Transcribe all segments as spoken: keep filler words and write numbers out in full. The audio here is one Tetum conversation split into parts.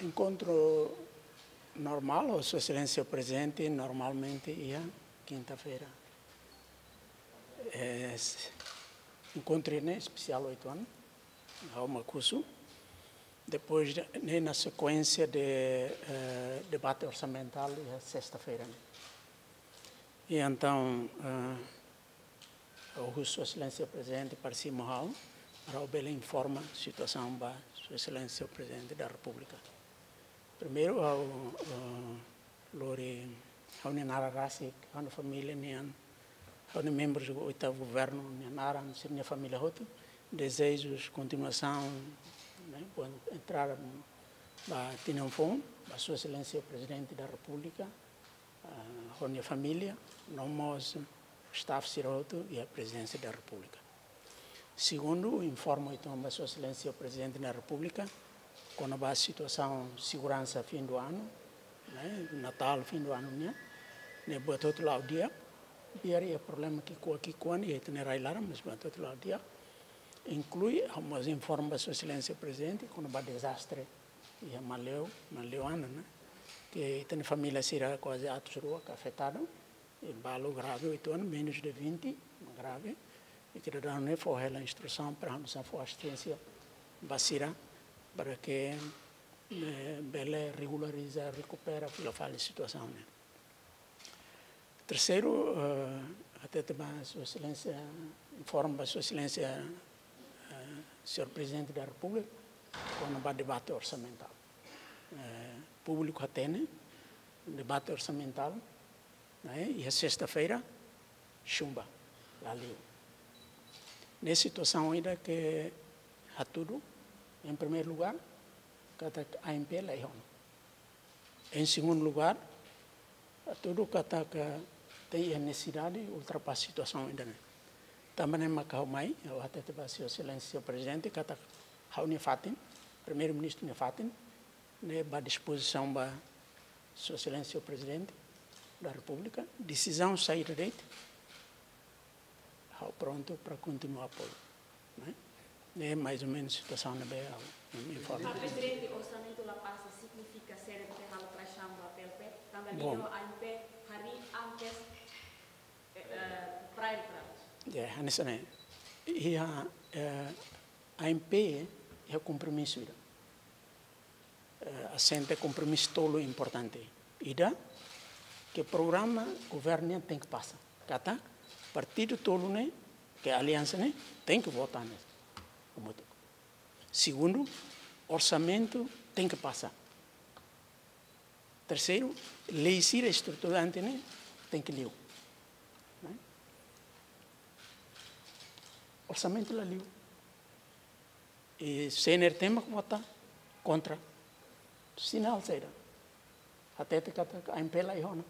Enkontru normál, ho Sua Exelénsia Prezidente, normalmente iha kinta-feira. Eh, s-, enkontru ne'e espesiál oito anos, ha'u mak husu. Depois de, ne'e na sekuénsia de, eh, debate orsamentál iha sesta-feira ne'e. I entaun, eh, ha'u husu Sua Exelénsia Prezidente para simu ha'u, para ha'u bele informa situasaun ba Sua Exelénsia Prezidente da Repúblika. Primeiru, ha'u, eh, lori ha'u-nia naran rasik, ha'u-nia família nian, ha'u-nia membru oitavu governu nia naran, sira-nia família hotu, dezeju kontinuasaun, ne'e, boa entrada ba tinan foun, ba Sua Exelénsia Prezidente da Repúblika, ah, ho nia família, no mós staff sira hotu iha Prezidénsia da Repúblika. Segundu, informa uitoan ba Sua Exelénsia Prezidente da Repúblika, kona-ba situasaun seguransa fim do ano, ne'e, Natál, fim do ano nian, ne'e buat hotu la'o di'ak, biar iha problema ki'ikoan ki'ikoan iha ita-nia rai-laran, mas buat hotu la'o di'ak, inklui, ha'u mós informa ba Sua Exelénsia Prezidente, kona-ba dezastre iha Maleo, Maleo Ana, ne'e, ke ita-nia família sira kuaze atus rua ke afetadu, i balu grave oito anos, menos de vinte, grave. I ita daudaun ne'e fó hela instrusaun para ha'u-nia staff fó asisténsia ba sira, para ke, eh, bele regulariza, rekupera, fila fali situasaun ne'e. Terseiru, eh, hatete ba Sua Exelénsia, informa ba Sua Exelénsia, eh, Señór Prezidente da Repúblika, kona-ba debate orsamentál. Eh, públiku hatene, debate orsamentál, ne'e, iha sesta-feira, chumba, la liu. Ne'e situasaun ida ke hatudu, em primeiro lugar, katak A M P la iha ona. Em segundo lugar, hatudu katak tem a necessidade ultrapassa situasaun ida-ne'e. Tanba ne'e maka ha'u mai, ha'u hatete ba Sua Exelénsia Prezidente, katak ha'u-nia fatin, Primeiru-Ministru nia fatin, ne'e ba dispozisaun ba Sua Exelénsia Prezidente da Repúblika, desizaun saida de'it, ha'u prontu para kontinua apoiu, ne'e? Ne'e mais ou menos situasaun ne'ebé ha'u informa. Prezidente, orsamentu la pasa signifika CNRT halo traisaun ba P L P, tanba Bom. Liu A M P harii antes, eh, eh, prior para. Ya, hanesan ne'e. Iha, eh, A M P iha kompromisu ida. Eh, asenta kompromisu tolu importante. Ida, ke programa governu tenke pasa. Katak partidu tolu ne'e, ke aliansa ne'e, tenke vota ne'e. Hamutuk. Segundu, orsamentu tenke pasa. Terseiru, lei sira estruturante ne'e tenke liu. Ne'e? Orsamentu la liu. I CNRT mak vota kontra. Sinál saida? Hatete katak A M P la iha ona.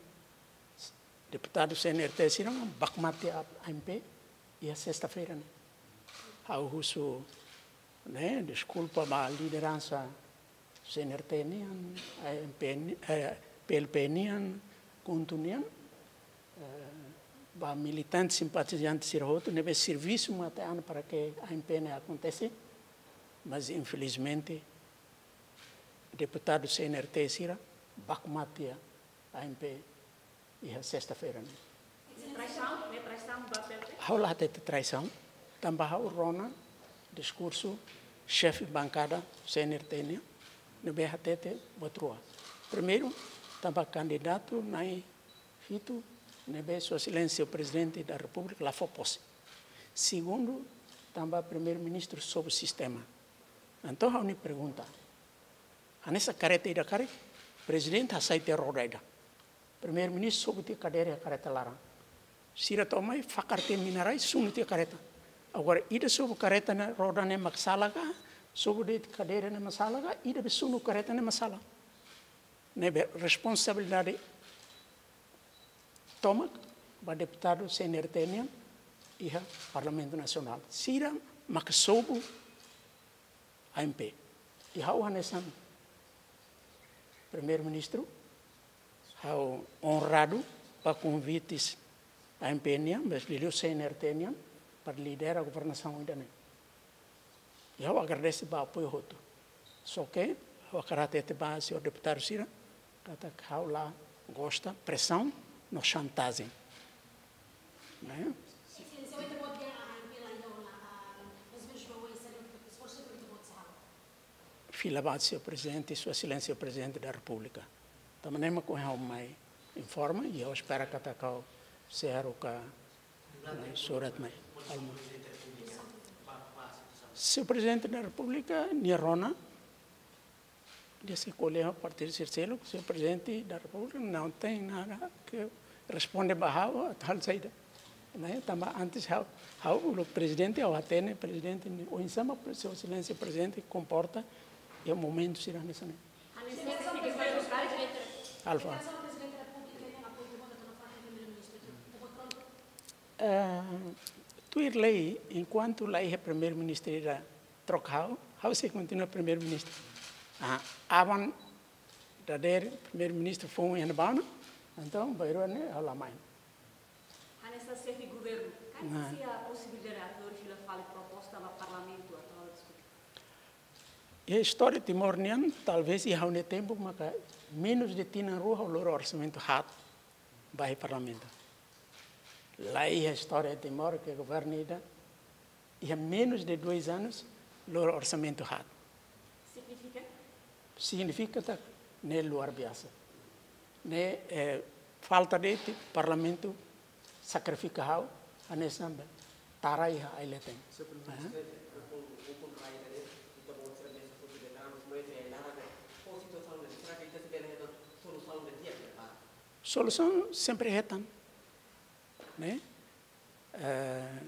Deputadu CNRT sira mak baku mate A M P iha sesta-feira ne'e. Ha'u husu, ne'e, deskulpa ba lideransa CNRT nian, A M P ni-, eh, P L P nian, KHUNTO nian, eh, ba militante, simpatizante sira hotu, ne'ebé servisu mate-an para ke A M P ne'e akontese, mas infelizmente deputadu CNRT sira baku mate A M P iha sesta-feira ne'e. Traisaun, ne'e traisaun ba P L P? Ha'u la hatete traisaun, tanba ha'u rona diskursu xefe bankada CNRT nian, ne'ebé hatete buat rua. Primeiru, tanba kandidatu na'in hitu, ne'ebé Sua Exelénsia Prezidente da Repúblika la fó pose. Segundu, tanba Primeiru-Ministru sobu sistema. Entaun, ha'u-nia pergunta, hanesan karreta ida karik, Prezidente hasai tiha roda ida. Primeiru-Ministru sobu tiha kadeira iha karreta laran. Sira to'o mai fakar tiha mina-rai, sunu tiha karreta. Agora, ida sobu karreta ne'e, roda ne'e mak sala ka, sobu de'it kadeira ne'e mak sala ka, ida be sunu karreta ne'e mak sala. Ne'ebé responsabilidade tomak ba deputadu CNRT nian iha Parlamentu Nasionál. Sira mak sobu A M P. I ha'u hanesan Primeiru-Ministru, ha'u onradu ba konvite A M P nian, mas liuliu CNRT nian, para lidera governasaun ida-ne'e. I ha'u agradese ba apoiu hotu. Só ke, Ha'u hakarak hatete ba señór deputadu sira katak ha'u la gosta presaun no xantajen. Ne'e? Fila ba señór Prezidente, Sua Exelénsia Prezidente da Repúblika. Tanba ne'e mak ohin ha'u mai informa, i ha'u espera katak ha'u sei haruka, eh, surat mai. Alma. Señór Prezidente da Repúblika, nia rona, nia sei ko'alia ho partidu sira seluk, señór Prezidente da Repúblika, não tem nada que responde ba ha'u, atu halo saida. Ne'e, tanba antes ha'u, ha'u uluk prezidente, ha'u hatene prezidente, oinsá mak Sua Exelénsia Prezidente komporta iha momentu sira hanesan ne'e. Alfa. Eh, tuir lei, enkuantu la iha primeiru-ministru ida troka ha'u, ha'u sei kontinua primeiru-ministru. Ah, aban dadeer primeiru-ministru foun iha ne'ebá ona, entaun bainrua ne'e ha'u la mai. Hanesan xefe governu, karik, nah, sei iha posibilidade atu fila fali proposta ba Parlamentu atu diskute? Iha istória Timor nian, talvés iha ha'u-nia tempu maka menus de tinan rua ha'u lori orsamentu haat ba iha Parlamentu. La iha istória Timor ke governu ida iha menus de dois anos lori orsamentu haat. Signifika? Signifika katak ne'e luar biasa. Ne'e, eh, falta de'it Parlamentu sakrifika ha'u, hanesan be tara iha ai-leten. Señór Prezidente, ukun, ukun rai ida-ne'e, ita-boot sira mesak hotu de'it, mas mai ita enara be, ho situasaun ne'e, será que ita sei bele hetan solusaun ne'e di'ak ne'e para? Solusaun sempre hetan, ne'e? Eh,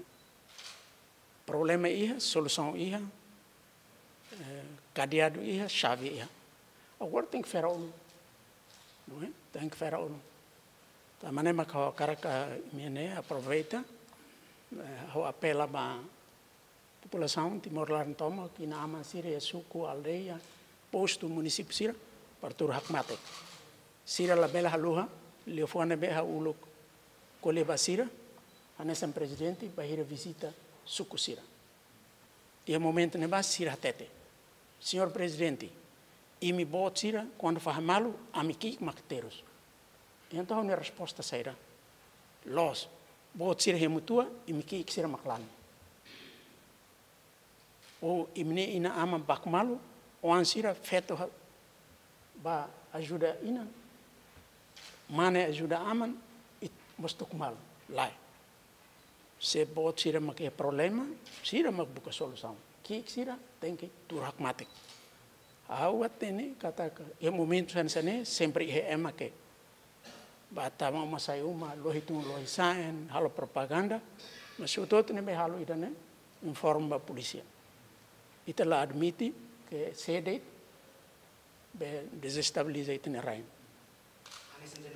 problema iha, solusaun iha, eh, kadeadu iha, xave iha. Agora tenke fera ulun. Não é? Tenke fera ulun. Tanba ne'e mak ha'u hakarak, eh, imi ne'e aproveita, eh, ha'u apela ba populasaun Timor laran tomak, inan-aman sira iha suku, aldeia, postu, munisípiu sira, para tuur hakmatek. Sira labele haluha liafuan ne'ebé ha'u uluk ko'alia ba sira, hanesan prezidente, bainhira vizita suku sira. Iha momentu ne'ebá sira hatete: Señór Prezidente, imi boot sira, kuandu fahe malu, ami ki'ik mak terus. Entaun, ha'u-nia resposta saida? Loos, boot sira hemu tua, imi ki'ik sira mak lani. Ou imi-nia inan-aman baku malu, oan sira feto ha-, bá ajuda inan, mane ajuda aman, i mós tuku malu. Lae. Se boot sira mak iha problema, sira mak buka solusaun. Ki'ik sira tenke tuur hakmatek. Ha'u hatene katak iha momentu hanesan ne'e, sempre iha ema ke bá tama uma sai uma, lohi tun lohi sa'e, halo propaganda, mas hotu-hotu ne'ebé halo ida-ne'e, informa ba polísia. Ita la admite ke sé de'it be dezestabiliza ita-nia rain.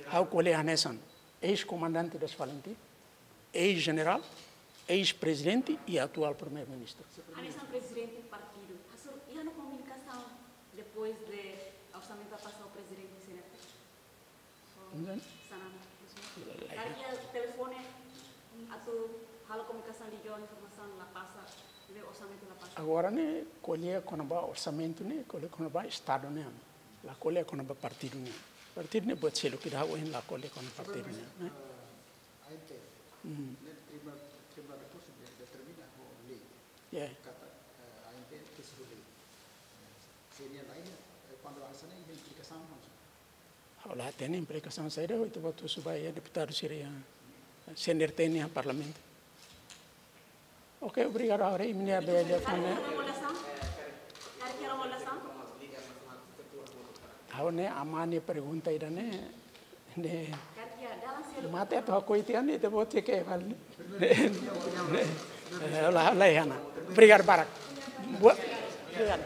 Ha'u ko'alia hanesan eis-komandante das FALINTIL, eis-jenerál, eis-prezidente i atuál primeiru-ministru. Hanesan prezidente partidu, hasoru iha ona komunikasaun depois de orsamentu pasa ho prezidente CNRT? Enten? Sanana. Karik iha telefone atu halo komunikasaun, liga informasaun la pasa, ne'ebé orsamentu la pasa? Agora ne'e ko'alia kona-ba orsamentu ne'e, ko'alia kona-ba Estadu nian. La ko'alia kona-ba partidu nian. Partidu ne'e buat seluk ida, ha'u ohin la ko'alia kona partidu nian, ne'e? Ah, A M P F. Hmm. Ne'e Tribunál, Tribunál Rekursu de-, determina ho lei. Ya. Katak, eh, A M P F ke simu lei. Se nia la iha, eh, kuandu hanesan ne'e iha implikasaun langsung. Ha'u la hatene implikasaun saida, ita-boot husu ba iha deputadu sira iha CNRT nian iha Parlamentu. Oke, obrigadu, Aure. Imi-nia be liafuan ne'e. Ha'u ne'e, aman nia pergunta ida-ne'e, ne'e mate atu hakoi tiha ne'e, ita-boot cek ke fali ne'e. Ne'e, ne'e. Eh, la, la, iha ona. Obrigadu barak. Boa. Obrigadu.